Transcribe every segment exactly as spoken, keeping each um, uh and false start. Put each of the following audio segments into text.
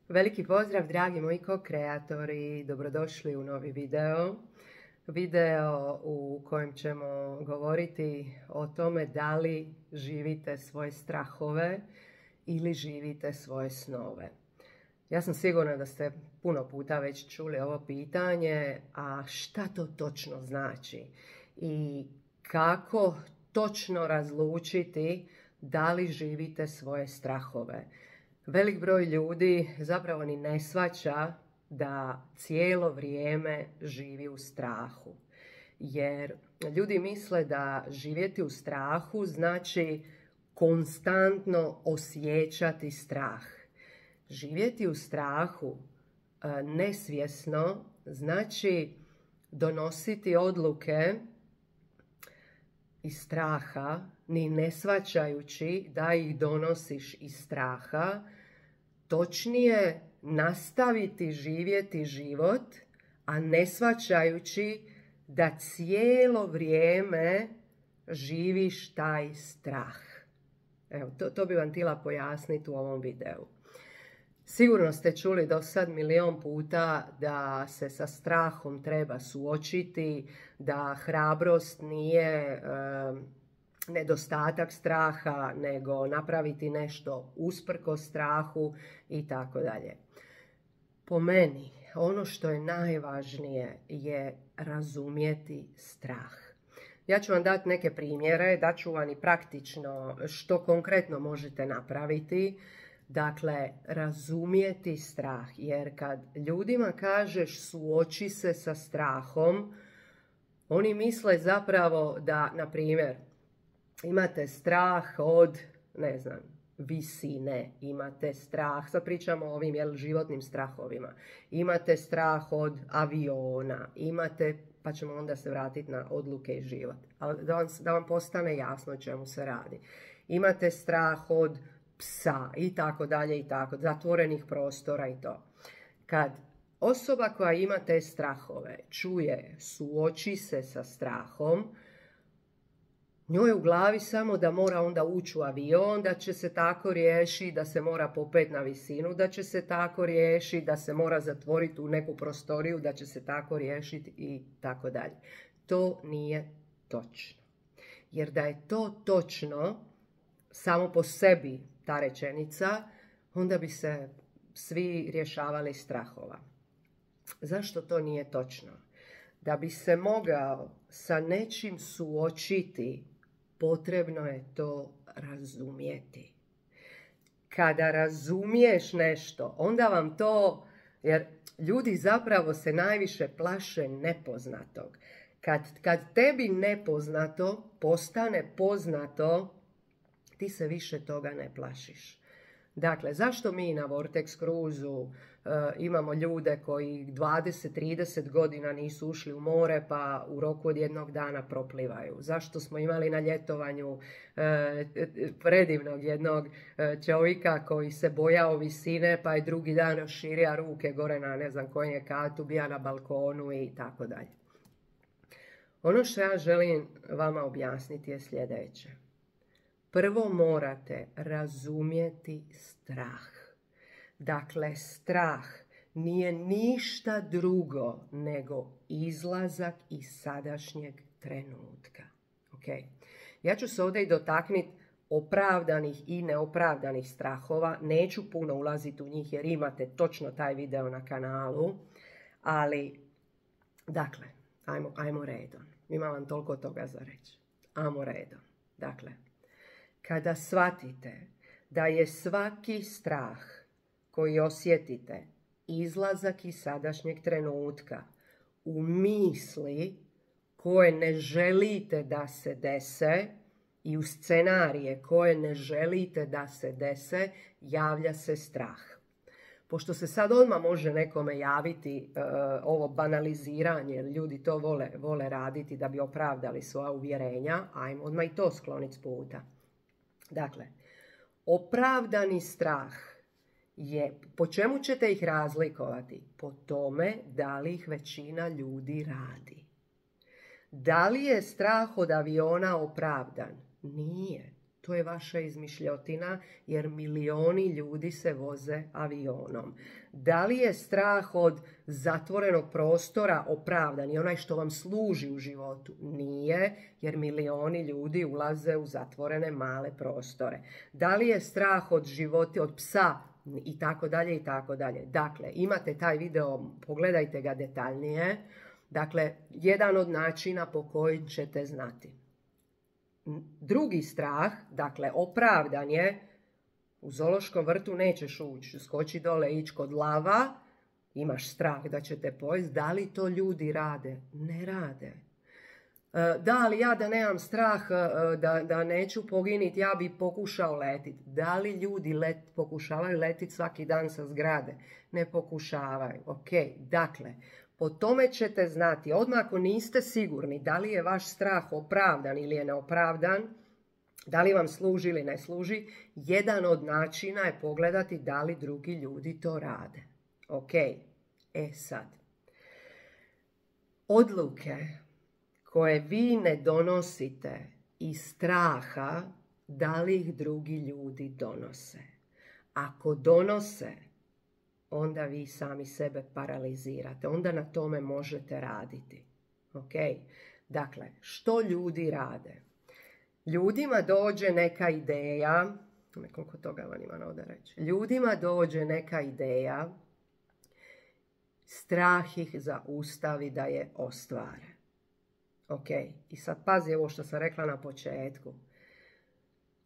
Veliki pozdrav, dragi moji ko-kreatori, dobrodošli u novi video. Video u kojem ćemo govoriti o tome da li živite svoje strahove ili živite svoje snove. Ja sam sigurna da ste puno puta već čuli ovo pitanje, a šta to točno znači i kako točno razlučiti da li živite svoje strahove. Velik broj ljudi zapravo ni ne shvaća da cijelo vrijeme živi u strahu. Jer ljudi misle da živjeti u strahu znači konstantno osjećati strah. Živjeti u strahu nesvjesno znači donositi odluke iz straha, ni ne shvaćajući da ih donosiš iz straha, točnije nastaviti živjeti život, a ne shvaćajući da cijelo vrijeme živiš taj strah. Evo, to, to bi vam htjela pojasniti u ovom videu. Sigurno ste čuli do sad milion puta da se sa strahom treba suočiti, da hrabrost nije e, nedostatak straha, nego napraviti nešto usprkos strahu i tako dalje. Po meni, ono što je najvažnije je razumjeti strah. Ja ću vam dati neke primjere, daću vam i praktično što konkretno možete napraviti. Dakle, razumjeti strah, jer kad ljudima kažeš suoči se sa strahom, oni misle zapravo da, na primjer, imate strah od, ne znam, visine, imate strah, sad pričamo o ovim jel, životnim strahovima, imate strah od aviona, imate, pa ćemo onda se vratiti na odluke i život, ali da vam, da vam postane jasno o čemu se radi. Imate strah od psa i tako dalje i tako, zatvorenih prostora i to. Kad osoba koja ima te strahove čuje suoči se sa strahom, njoj je u glavi samo da mora onda ući u avion, da će se tako riješiti, da se mora popeti na visinu, da će se tako riješiti, da se mora zatvoriti u neku prostoriju, da će se tako riješiti i tako dalje. To nije točno. Jer da je to točno, samo po sebi ta rečenica, onda bi se svi rješavali strahova. Zašto to nije točno? Da bi se mogao sa nečim suočiti, potrebno je to razumjeti. Kada razumiješ nešto, onda vam to, jer ljudi zapravo se najviše plaše nepoznatog. Kad, kad tebi nepoznato postane poznato, ti se više toga ne plašiš. Dakle, zašto mi na Vortex Cruise uh, imamo ljude koji dvadeset trideset godina nisu ušli u more pa u roku od jednog dana proplivaju? Zašto smo imali na ljetovanju uh, predivnog jednog uh, čovjeka koji se bojao visine pa je drugi dan raširio ruke gore na ne znam kojem je katu, bija na balkonu i tako dalje. Ono što ja želim vama objasniti je sljedeće. Prvo morate razumjeti strah. Dakle, strah nije ništa drugo nego izlazak iz sadašnjeg trenutka. Okay? Ja ću se ovdje i dotaknuti opravdanih i neopravdanih strahova. Neću puno ulaziti u njih jer imate točno taj video na kanalu. Ali, dakle, ajmo, ajmo redom. Imam vam toliko toga za reći. Ajmo redom. Dakle, kada shvatite da je svaki strah koji osjetite izlazak iz sadašnjeg trenutka u misli koje ne želite da se dese i u scenarije koje ne želite da se dese, javlja se strah. Pošto se sad odmah može nekome javiti uh, ovo banaliziranje, jer ljudi to vole, vole raditi da bi opravdali svoja uvjerenja, ajmo odmah i to skloniti s puta. Dakle, opravdani strah je, po čemu ćete ih razlikovati? Po tome da li ih većina ljudi radi. Da li je strah od aviona opravdan? Nije. To je vaša izmišljotina jer milioni ljudi se voze avionom. Da li je strah od zatvorenog prostora opravdan i onaj što vam služi u životu? Nije, jer milioni ljudi ulaze u zatvorene male prostore. Da li je strah od života, od psa i tako dalje i tako dalje? Dakle, imate taj video, pogledajte ga detaljnije. Dakle, jedan od načina po kojim ćete znati. Drugi strah, dakle opravdan je, u zoološkom vrtu nećeš ući, skoči dole, ići kod lava, imaš strah da će te pojesti. Da li to ljudi rade? Ne rade. Da, ali ja da nemam strah, da, da neću poginiti, ja bi pokušao letiti. Da li ljudi let, pokušavaju letiti svaki dan sa zgrade? Ne pokušavaju. Ok, dakle, po tome ćete znati, odmah ako niste sigurni da li je vaš strah opravdan ili je neopravdan, da li vam služi ili ne služi, jedan od načina je pogledati da li drugi ljudi to rade. Ok, e sad. Odluke koje vi ne donosite iz straha, da li ih drugi ljudi donose. Ako donose, onda vi sami sebe paralizirate. Onda na tome možete raditi. Ok? Dakle, što ljudi rade? Ljudima dođe neka ideja, nekoliko toga vam imam ovdje reći. Ljudima dođe neka ideja, strah ih zaustavi da je ostvare. Ok? I sad pazi ovo što sam rekla na početku.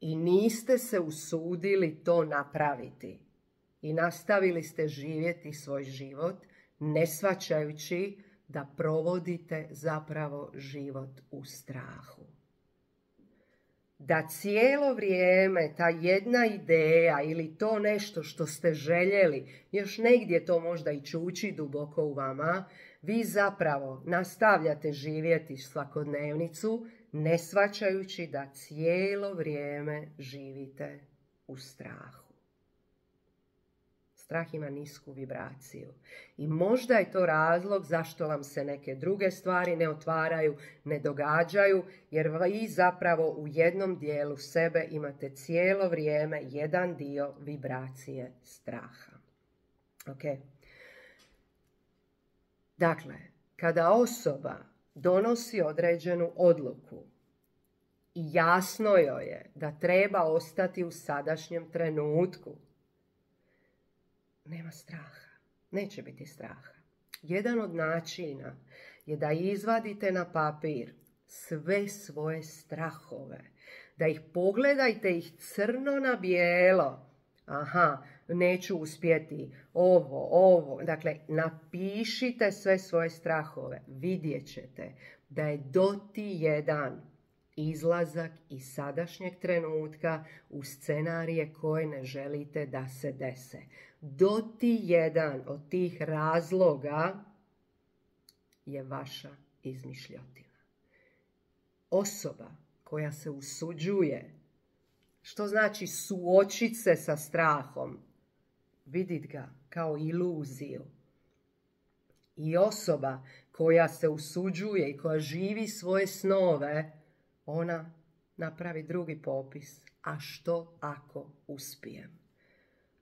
I niste se usudili to napraviti. I nastavili ste živjeti svoj život, ne shvaćajući da provodite zapravo život u strahu. Da cijelo vrijeme ta jedna ideja ili to nešto što ste željeli, još negdje to možda i čuči duboko u vama, vi zapravo nastavljate živjeti svakodnevnicu, ne shvaćajući da cijelo vrijeme živite u strahu. Strah ima nisku vibraciju. I možda je to razlog zašto vam se neke druge stvari ne otvaraju, ne događaju, jer vi zapravo u jednom dijelu sebe imate cijelo vrijeme jedan dio vibracije straha. Ok? Dakle, kada osoba donosi određenu odluku i jasno joj je da treba ostati u sadašnjem trenutku, nema straha. Neće biti straha. Jedan od načina je da izvadite na papir sve svoje strahove. Da ih pogledajte ih crno na bijelo. Aha, neću uspjeti ovo, ovo. Dakle, napišite sve svoje strahove. Vidjet ćete da je doti jedan izlazak iz sadašnjeg trenutka u scenarije koje ne želite da se dese. Doti jedan od tih razloga je vaša izmišljotina. Osoba koja se usuđuje, što znači suočiti se sa strahom, vidit ga kao iluziju. I osoba koja se usuđuje i koja živi svoje snove, ona napravi drugi popis. A što ako uspijem?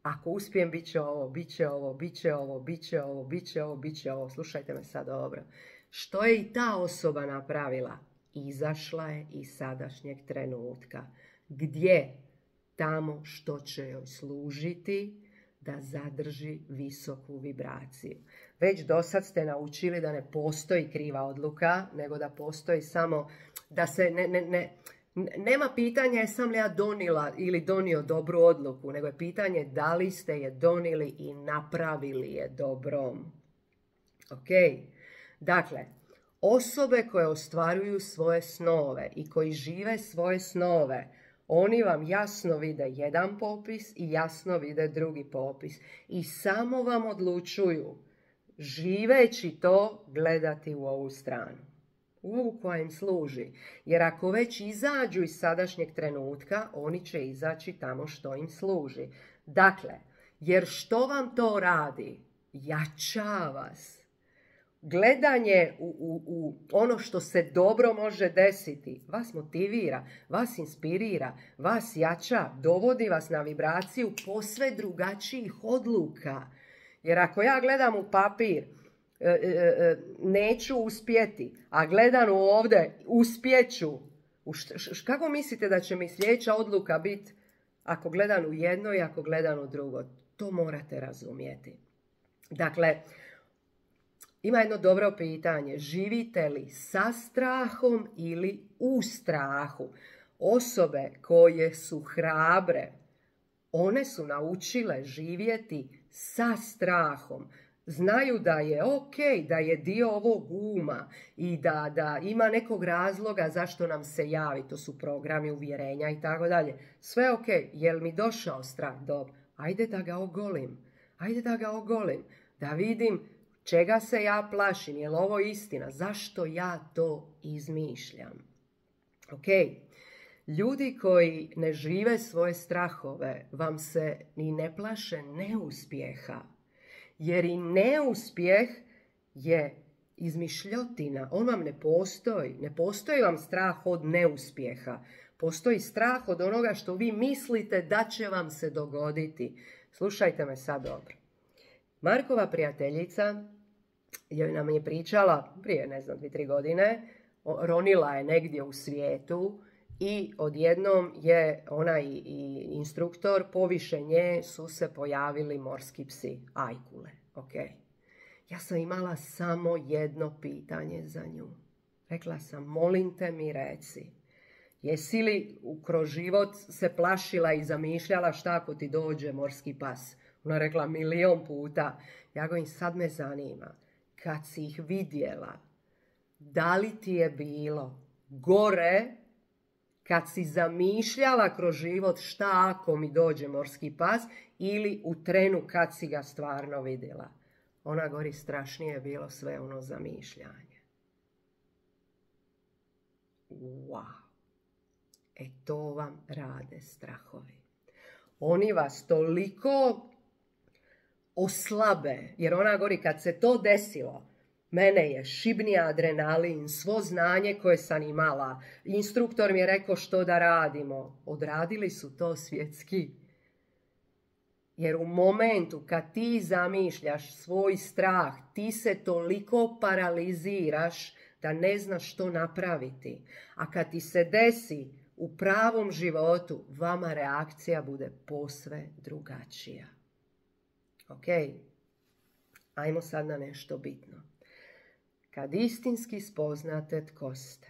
Ako uspijem, bit će ovo, bit će ovo, bit će ovo, bit će ovo, bit će ovo, bit će ovo. Slušajte me sad dobro. Što je i ta osoba napravila? Izašla je iz sadašnjeg trenutka. Gdje? Tamo što će joj služiti da zadrži visoku vibraciju. Već do sad ste naučili da ne postoji kriva odluka, nego da postoji samo da se ne... ne, ne Nema pitanja jesam li ja donila ili donio dobru odluku, nego je pitanje da li ste je donijeli i napravili je dobrom. Ok? Dakle, osobe koje ostvaruju svoje snove i koji žive svoje snove, oni vam jasno vide jedan popis i jasno vide drugi popis. I samo vam odlučuju, živeći to, gledati u ovu stranu. U ovu koja im služi. Jer ako već izađu iz sadašnjeg trenutka, oni će izaći tamo što im služi. Dakle, jer što vam to radi? Jača vas. gledanje u, u, u ono što se dobro može desiti vas motivira, vas inspirira, vas jača, dovodi vas na vibraciju posve drugačijih odluka. Jer ako ja gledam u papir, e, e, neću uspjeti, a gledam ovdje, uspjeću, kako mislite da će mi sljedeća odluka biti ako gledam u jedno i ako gledam u drugo? To morate razumjeti. Dakle, ima jedno dobro pitanje. Živite li sa strahom ili u strahu? Osobe koje su hrabre, one su naučile živjeti sa strahom. Znaju da je ok, da je dio ovog uma i da, da ima nekog razloga zašto nam se javi. To su programi uvjerenja i tako dalje. Sve ok, jel mi došao strah? Dobro, ajde da ga ogolim. Ajde da ga ogolim. Da vidim čega se ja plašim. Jel ovo istina? Zašto ja to izmišljam? Ok. Ljudi koji ne žive svoje strahove vam se ni ne plaše neuspjeha. Jer i neuspjeh je izmišljotina. On vam ne postoji. Ne postoji vam strah od neuspjeha. Postoji strah od onoga što vi mislite da će vam se dogoditi. Slušajte me sad dobro. Markova prijateljica je nam je pričala prije, ne znam, dvije, tri godine. Ronila je negdje u svijetu i odjednom je ona i, i instruktor, poviše nje su se pojavili morski psi, ajkule. Okay. Ja sam imala samo jedno pitanje za nju. Rekla sam, molim te mi reci, jesi li kroz život se plašila i zamišljala šta ako ti dođe morski pas? Ona rekla milion puta. Ja govorim, sad me zanima, kad si ih vidjela, da li ti je bilo gore kad si zamišljala kroz život šta ako mi dođe morski pas ili u trenu kad si ga stvarno vidjela? Ona govori, strašnije je bilo sve ono zamišljanje. Wow. E to vam rade strahovi. Oni vas toliko oslabe, jer ona govori, kad se to desilo, mene je šibnija adrenalin, svo znanje koje sam imala. Instruktor mi je rekao što da radimo. Odradili su to svjetski. Jer u momentu kad ti zamišljaš svoj strah, ti se toliko paraliziraš da ne znaš što napraviti. A kad ti se desi u pravom životu, vama reakcija bude posve drugačija. Ok? Ajmo sad na nešto bitno. Kad istinski spoznate tko ste,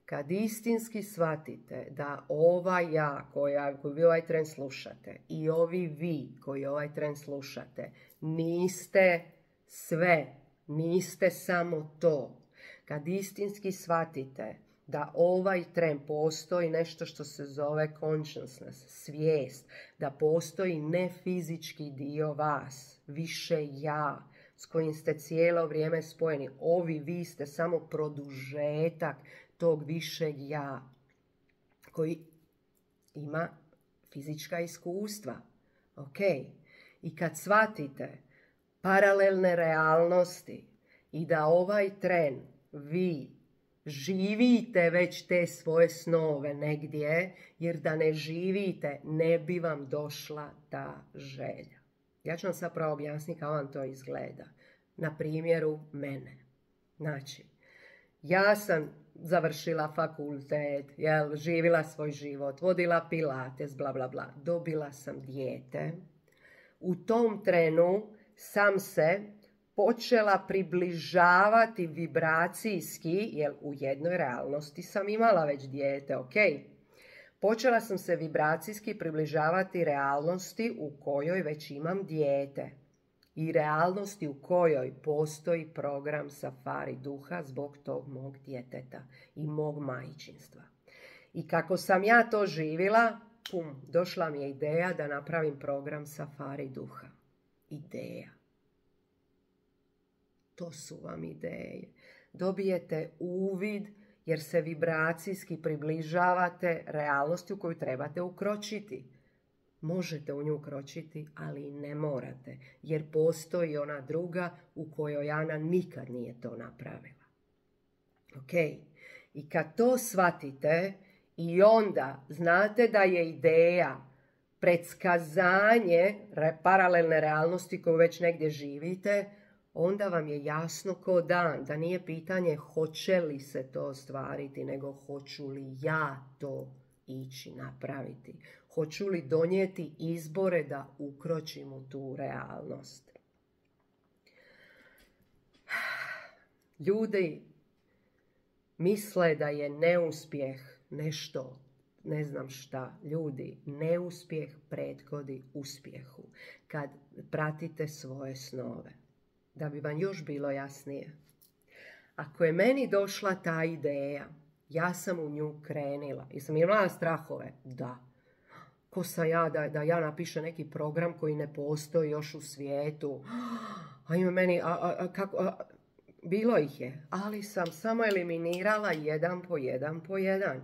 kad istinski shvatite da ovaj ja koja, koji vi ovaj tren slušate i ovi vi koji ovaj tren slušate niste sve, niste samo to. Kad istinski shvatite da ovaj tren postoji nešto što se zove consciousness, svijest, da postoji nefizički dio vas, više ja, s kojim ste cijelo vrijeme spojeni. Ovi vi ste samo produžetak tog višeg ja koji ima fizička iskustva. Ok. I kad shvatite paralelne realnosti i da ovaj tren vi živite već te svoje snove negdje, jer da ne živite ne bi vam došla ta želja. Ja ću vam sad pravo objasniti kako vam to izgleda. Na primjeru mene. Znači, ja sam završila fakultet, jel, živjela svoj život, vodila pilates, bla, bla, bla. Dobila sam dijete. U tom trenu sam se počela približavati vibracijski, jer u jednoj realnosti sam imala već dijete, ok? Počela sam se vibracijski približavati realnosti u kojoj već imam dijete i realnosti u kojoj postoji program safari duha zbog tog mog djeteta i mog majčinstva. I kako sam ja to živjela, pum, došla mi je ideja da napravim program safari duha. Ideja. To su vam ideje. Dobijete uvid jer se vibracijski približavate realnosti u koju trebate ukročiti. Možete u nju kročiti, ali ne morate, jer postoji ona druga u kojoj Ana nikad nije to napravila. Ok? I kad to shvatite i onda znate da je ideja predskazanje paralelne realnosti koju već negdje živite, onda vam je jasno ko dan da nije pitanje hoće li se to ostvariti, nego hoću li ja to ići napraviti. Hoću li donijeti izbore da ukročim u tu realnost. Ljudi misle da je neuspjeh nešto, ne znam šta. Ljudi, neuspjeh prethodi uspjehu kad pratite svoje snove. Da bi vam još bilo jasnije. Ako je meni došla ta ideja, ja sam u nju krenila. Jesam imala strahove? Da. Ko sam ja da, da ja napišem neki program koji ne postoji još u svijetu? Ajme meni, a, a, a, kako... A, bilo ih je, ali sam samo eliminirala jedan po jedan po jedan.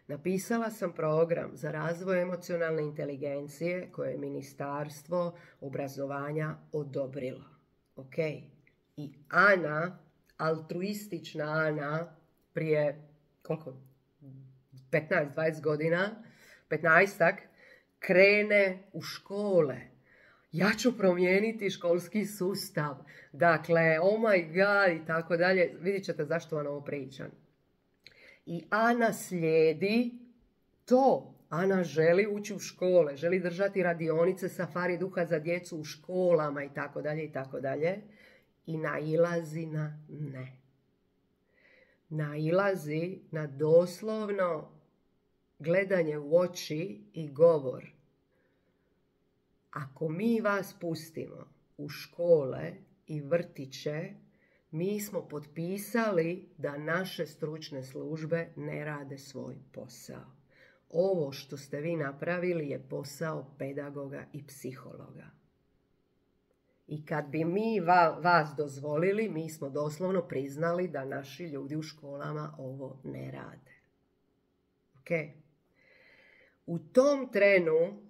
Napisala sam program za razvoj emocionalne inteligencije koje je Ministarstvo obrazovanja odobrilo. Ok? I Ana, altruistična Ana, prije koliko? petnaest dvadeset godina, petnaestak, krene u škole. Ja ću promijeniti školski sustav. Dakle, oh my god i tako dalje. Vidjet ćete zašto vam ovo pričam. I Ana slijedi to. Ana želi ući u škole, želi držati radionice safari duha za djecu u školama i tako dalje i tako dalje. I nailazi na ne. Nailazi na doslovno gledanje u oči i govor. Ako mi vas pustimo u škole i vrtiće, mi smo potpisali da naše stručne službe ne rade svoj posao. Ovo što ste vi napravili je posao pedagoga i psihologa. I kad bi mi va, vas dozvolili, mi smo doslovno priznali da naši ljudi u školama ovo ne rade. Ok? U tom trenu,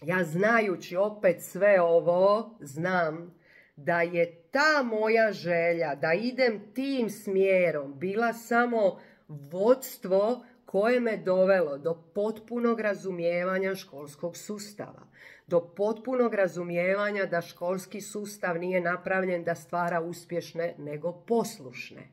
ja znajući opet sve ovo, znam da je ta moja želja da idem tim smjerom bila samo vodstvo koje me dovelo do potpunog razumijevanja školskog sustava. Do potpunog razumijevanja da školski sustav nije napravljen da stvara uspješne nego poslušne.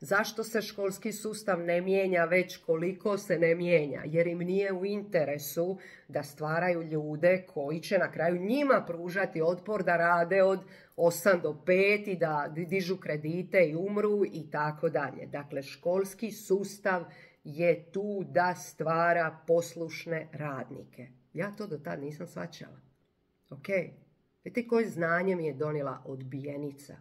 Zašto se školski sustav ne mijenja već koliko se ne mijenja? Jer im nije u interesu da stvaraju ljude koji će na kraju njima pružati otpor da rade od osam do pet i da dižu kredite i umru i tako dalje. Dakle, školski sustav je tu da stvara poslušne radnike. Ja to do tad nisam shvaćala. Ok? Vidite koje znanje mi je donijela odbijenica.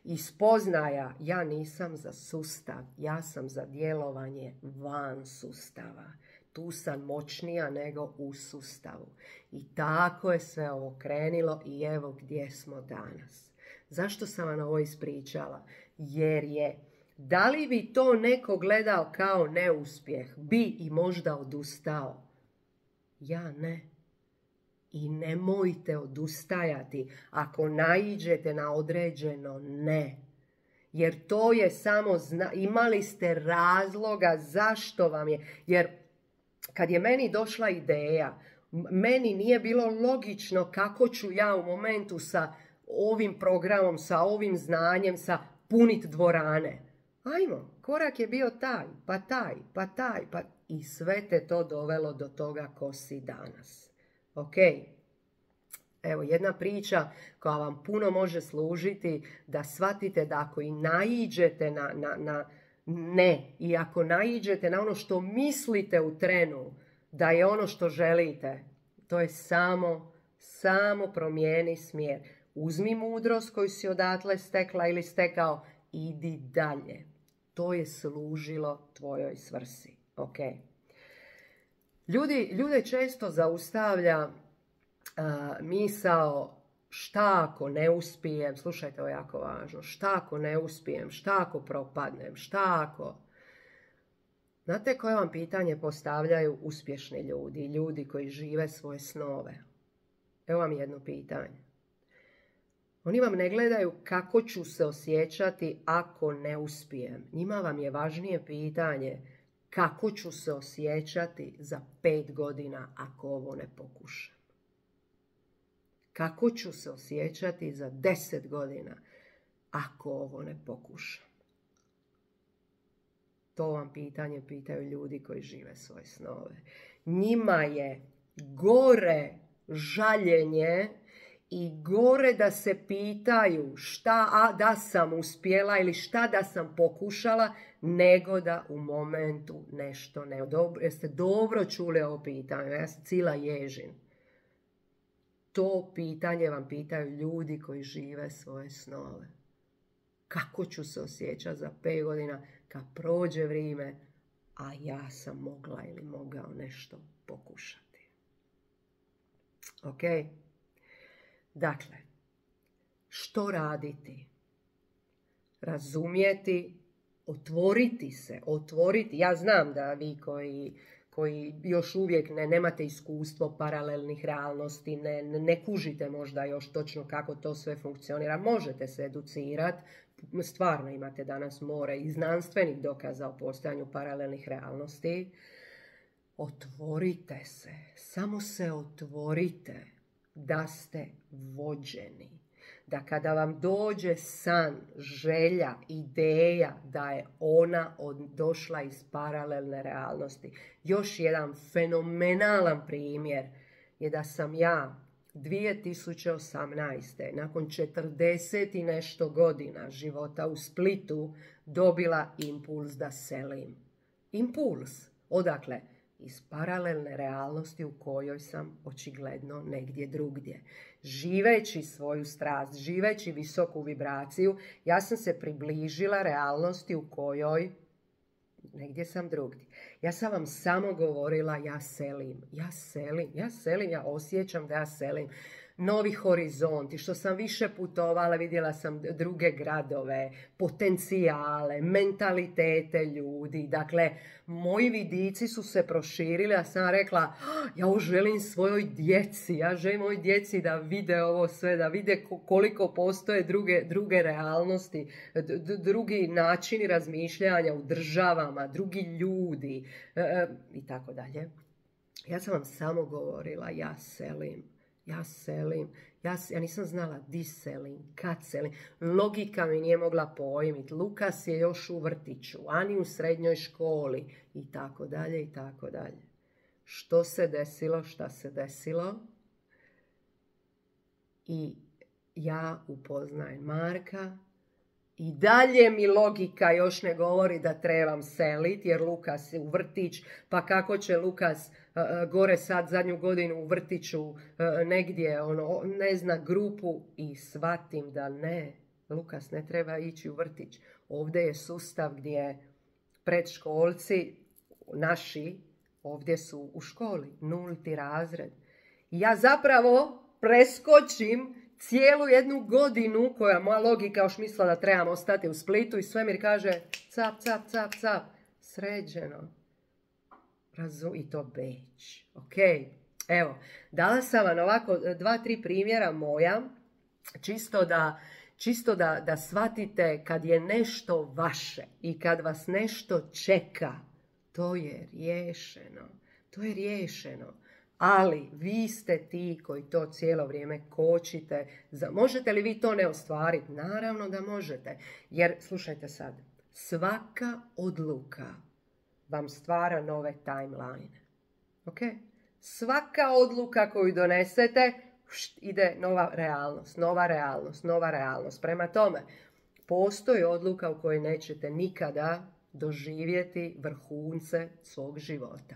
I spoznaja, ja nisam za sustav, ja sam za djelovanje van sustava. Tu sam moćnija nego u sustavu. I tako je sve ovo krenilo i evo gdje smo danas. Zašto sam vam ovo ispričala? Jer je, da li bi to neko gledao kao neuspjeh, bi i možda odustao? Ja ne. I nemojte odustajati ako naiđete na određeno ne. Jer to je samo, zna... imali ste razloga zašto vam je. Jer kad je meni došla ideja, meni nije bilo logično kako ću ja u momentu sa ovim programom, sa ovim znanjem, sa punit dvorane. Ajmo, korak je bio taj, pa taj, pa taj, pa... I sve te to dovelo do toga ko si danas. Ok, evo jedna priča koja vam puno može služiti da shvatite da ako i naiđete na, na, na ne i ako naiđete na ono što mislite u trenu da je ono što želite, to je samo, samo promijeni smjer. Uzmi mudrost koju si odatle stekla ili stekao, idi dalje. To je služilo tvojoj svrsi. Ok. Ljudi, ljude često zaustavlja uh, misao šta ako ne uspijem, slušajte, ovo je jako važno, šta ako ne uspijem, šta ako propadnem, šta ako... Znate koje vam pitanje postavljaju uspješni ljudi, ljudi koji žive svoje snove? Evo vam jedno pitanje. Oni vam ne gledaju kako ću se osjećati ako ne uspijem. Njima vam je važnije pitanje kako ću se osjećati za pet godina ako ovo ne pokušam. Kako ću se osjećati za deset godina ako ovo ne pokušam. To vam pitanje pitaju ljudi koji žive svoje snove. Njima je gore žaljenje i gore da se pitaju šta a, da sam uspjela ili šta da sam pokušala, nego da u momentu nešto ne. Dobro, jeste dobro čuli ovo pitanje? Ja sam cijela ježin. To pitanje vam pitaju ljudi koji žive svoje snove. Kako ću se osjećati za pet godina kad prođe vrijeme, a ja sam mogla ili mogao nešto pokušati. Ok? Dakle, što raditi? Razumjeti, otvoriti se, otvoriti. Ja znam da vi koji, koji još uvijek ne, nemate iskustvo paralelnih realnosti, ne, ne kužite možda još točno kako to sve funkcionira. Možete se educirati, stvarno imate danas more i znanstvenih dokaza o postojanju paralelnih realnosti. Otvorite se, samo se otvorite da ste vođeni. Da kada vam dođe san, želja, ideja, da je ona od, došla iz paralelne realnosti. Još jedan fenomenalan primjer je da sam ja dvije tisuće osamnaeste. nakon četrdeset i nešto godina života u Splitu dobila impuls da selim. Impuls. Odakle? Iz paralelne realnosti u kojoj sam očigledno negdje drugdje. Živeći svoju strast, živeći visoku vibraciju, ja sam se približila realnosti u kojoj negdje sam drugdje. Ja sam vam samo govorila ja selim, ja selim, ja selim, ja osjećam da ja selim. Novi horizonti, što sam više putovala, vidjela sam druge gradove, potencijale, mentalitete ljudi. Dakle, moji vidici su se proširili, a sam rekla, ja ovo želim svojoj djeci, ja želim ovoj djeci da vide ovo sve, da vide koliko postoje druge, druge realnosti, d- drugi načini razmišljanja u državama, drugi ljudi e, i tako dalje. Ja sam vam samo govorila, ja selim. Ja selim, ja, ja nisam znala di selim, kad selim. Logika mi nije mogla pojmiti. Lukas je još u vrtiću, Ani u srednjoj školi i tako dalje i tako dalje. Što se desilo, šta se desilo? I ja upoznajem Marka i dalje mi logika još ne govori da trebam seliti jer Lukas je u vrtić, pa kako će Lukas uh, gore sad zadnju godinu u vrtiću uh, negdje, ono, ne zna grupu i shvatim da ne, Lukas ne treba ići u vrtić. Ovdje je sustav gdje predškolci naši ovdje su u školi, nulti razred. I ja zapravo preskočim cijelu jednu godinu koja moja logika još mislila da trebam ostati u Splitu i svemir kaže cap, cap, cap, cap, sređeno. Razum, i to Beč. Ok, evo, dala sam vam ovako dva, tri primjera moja, čisto da, čisto da, da shvatite kad je nešto vaše i kad vas nešto čeka, to je riješeno. To je riješeno. Ali vi ste ti koji to cijelo vrijeme kočite. Možete li vi to ne ostvariti? Naravno da možete. Jer, slušajte sad, svaka odluka vam stvara nove timeline. Ok? Svaka odluka koju donesete, ide nova realnost, nova realnost, nova realnost. Prema tome, postoji odluka u kojoj nećete nikada doživjeti vrhunce svog života.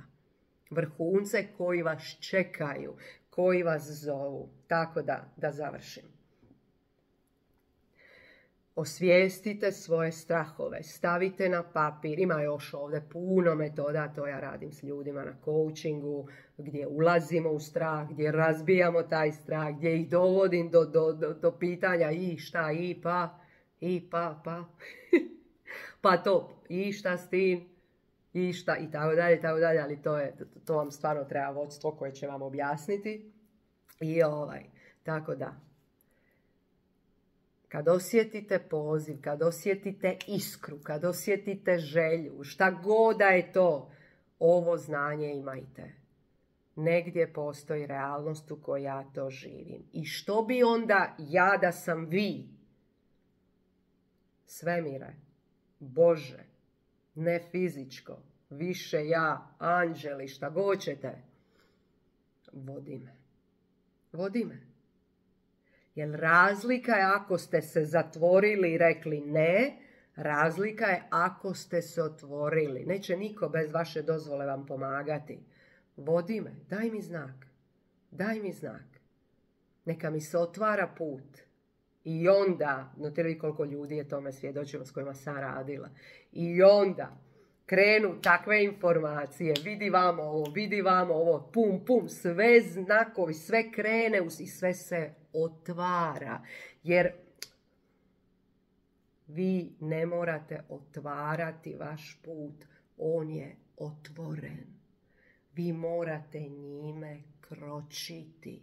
Vrhunce koji vas čekaju, koji vas zovu. Tako da, da završim. Osvijestite svoje strahove, stavite na papir. Ima još ovdje puno metoda, to ja radim s ljudima na coachingu, gdje ulazimo u strah, gdje razbijamo taj strah, gdje ih dovodim do, do, do, do pitanja i šta, i pa, i pa, pa. Pa to, i šta s tim? i šta i tako dalje, i tako dalje, ali to, je, to, to vam stvarno treba vodstvo koje će vam objasniti. I ovaj, tako da, kad osjetite poziv, kad osjetite iskru, kad osjetite želju, šta god da je to, ovo znanje imajte. Negdje postoji realnost u kojoj ja to živim. I što bi onda ja da sam vi? Svemire, Bože, ne fizičko, više ja, anđeli, šta god ćete, vodi me. Vodi me. Jer razlika je ako ste se zatvorili i rekli ne, razlika je ako ste se otvorili. Neće niko bez vaše dozvole vam pomagati. Vodi me, daj mi znak, daj mi znak. Neka mi se otvara put. I onda, znate li koliko ljudi je tome svjedočilo s kojima sam radila. I onda krenu takve informacije, vidi vamo ovo, vidi vamo ovo, pum, pum, sve znakovi, sve krene i sve se otvara. Jer vi ne morate otvarati vaš put, on je otvoren. Vi morate njime kročiti.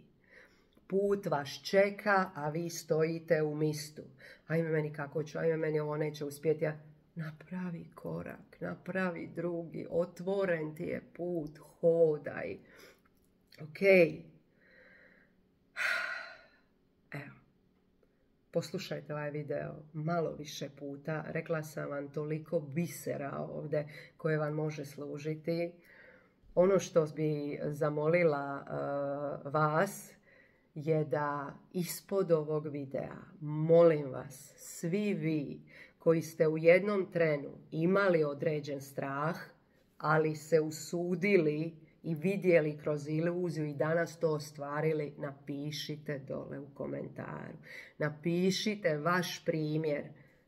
Put vas čeka, a vi stojite u mistu. Ajme meni kako ću, ajme meni ovo neće uspjeti. Ja, napravi korak, napravi drugi, otvoren ti je put, hodaj. Ok. Evo. Poslušajte ovaj video malo više puta. Rekla sam vam toliko bisera ovdje koje vam može služiti. Ono što bi zamolila uh, vas je da ispod ovog videa, molim vas, svi vi koji ste u jednom trenu imali određen strah, ali se usudili i vidjeli kroz iluziju i danas to ostvarili, napišite dole u komentaru. Napišite vaš primjer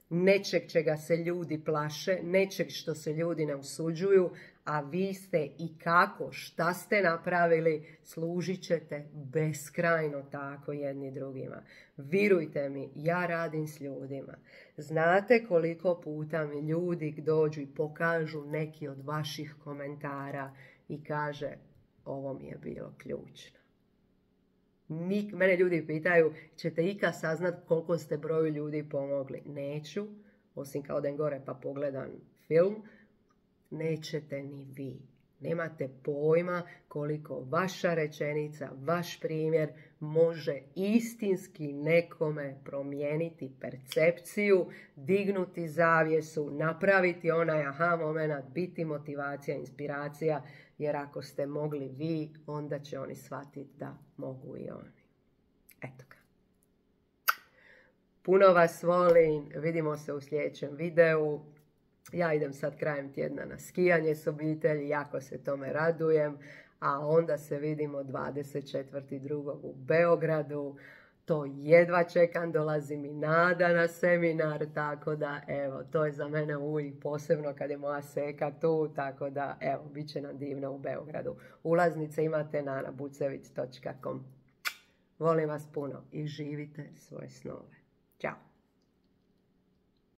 nečeg čega se ljudi plaše, nečeg što se ljudi ne usuđuju, a vi ste i kako, šta ste napravili, služit ćete beskrajno tako jedni drugima. Virujte mi, ja radim s ljudima. Znate koliko puta mi ljudi dođu i pokažu neki od vaših komentara i kaže, ovo mi je bilo ključno. Nik, mene ljudi pitaju, ćete ikad saznat koliko ste broju ljudi pomogli? Neću, osim kao odem gore pa pogledam film. Nećete ni vi. Nemate pojma koliko vaša rečenica, vaš primjer može istinski nekome promijeniti percepciju, dignuti zavjesu, napraviti onaj aha moment, biti motivacija, inspiracija, jer ako ste mogli vi, onda će oni shvatiti da mogu i oni. Eto ga. Puno vas volim, vidimo se u sljedećem videu. Ja idem sad krajem tjedna na skijanje s obitelji, jako se tome radujem, a onda se vidimo dvadeset četvrtog drugog u Beogradu. To jedva čekam, dolazi mi Nada na seminar, tako da evo, to je za mene uvijek posebno kad je moja seka tu, tako da evo, bit će nam divno u Beogradu. Ulaznice imate na ana bucevic točka com. Volim vas puno i živite svoje snove. Ćao!